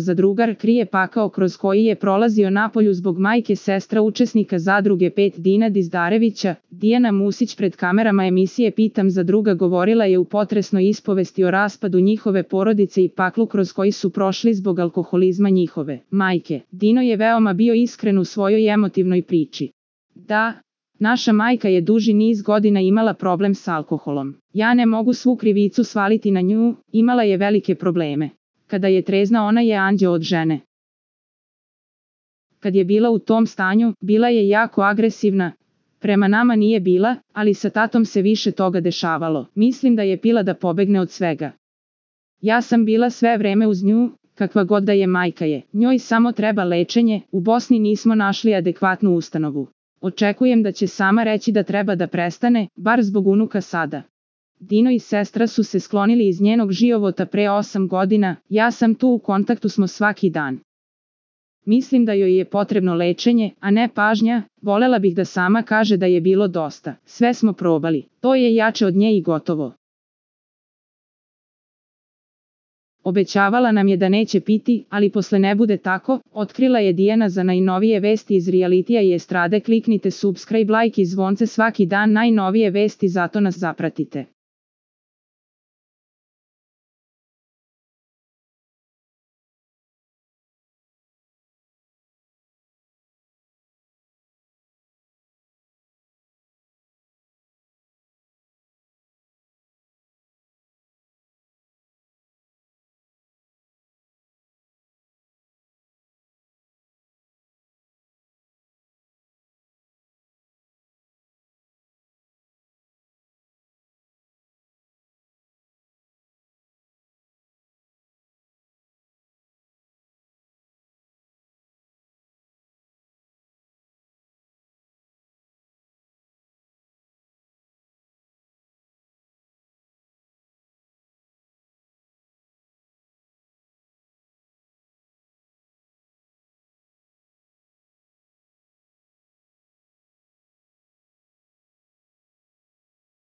zadrugar krije pakao kroz koji je prolazio napolju zbog majke sestra učesnika zadruge 5 Dina Dizdarevića. Dijana Musić pred kamerama emisije Pitam zadruga govorila je u potresnoj ispovesti o raspadu njihove porodice i paklu kroz koji su prošli zbog alkoholizma njihove majke. Dino je veoma bio iskren u svojoj emotivnoj priči. Da, naša majka je duži niz godina imala problem s alkoholom. Ja ne mogu svu krivicu svaliti na nju, imala je velike probleme. Kada je trezna ona je anđeo od žene. Kad je bila u tom stanju, bila je jako agresivna. Prema nama nije bila, ali sa tatom se više toga dešavalo. Mislim da je pila da pobegne od svega. Ja sam bila sve vreme uz nju, kakva god da je majka je. Njoj samo treba lečenje, u Bosni nismo našli adekvatnu ustanovu. Očekujem da će sama reći da treba da prestane, bar zbog unuka sada. Dino i sestra su se sklonili iz njenog života pre 8 godina, ja sam tu u kontaktu smo svaki dan. Mislim da joj je potrebno lečenje, a ne pažnja, volela bih da sama kaže da je bilo dosta. Sve smo probali, to je jače od nje i gotovo. Obećavala nam je da neće piti, ali posle ne bude tako, otkrila je Dijana. Za najnovije vesti iz realitija i estrade kliknite subscribe, like i zvonce svaki dan, najnovije vesti, zato nas zapratite.